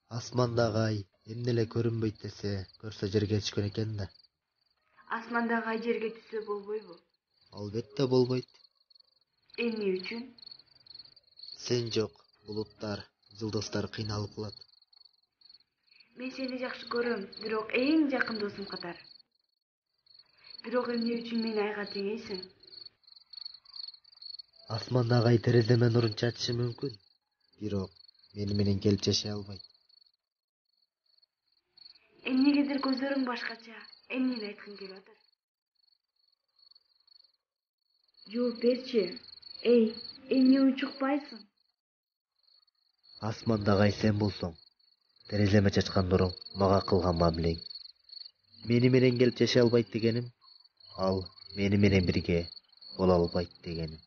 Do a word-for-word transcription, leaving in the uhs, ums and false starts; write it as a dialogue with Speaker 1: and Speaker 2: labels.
Speaker 1: Асмандагы ай эмне эле көрүнбөйт десе, көрсө жерге түшкөн экен да.
Speaker 2: Асмандагы ай жерге түшсө болбойбу?
Speaker 1: Албетте болбойт.
Speaker 2: Эмне үчүн?
Speaker 1: Сен жок, булуттар, жылдыздар кыйналып калат.
Speaker 2: Мен сени жакшы көрөм, бирок эң жакын досум катары. Бирок эмне үчүн мени айга теңейсиң?
Speaker 1: Асмандагы ай тереземен нурун чачышы мүмкүн, бирок мени менен келип жашай албайт.
Speaker 2: Эмнегедир көзүрүң башкача, эмнени айткың келип атат? Жооп берчи. Эй, эмне унчукпайсың?
Speaker 1: Асмандагы ай сен болсоң, тереземе чачкан нуруң мага кылган мамилең. Мени менен келип жашай албайт дегеним, ал мени менен бирге боло албайт дегеним.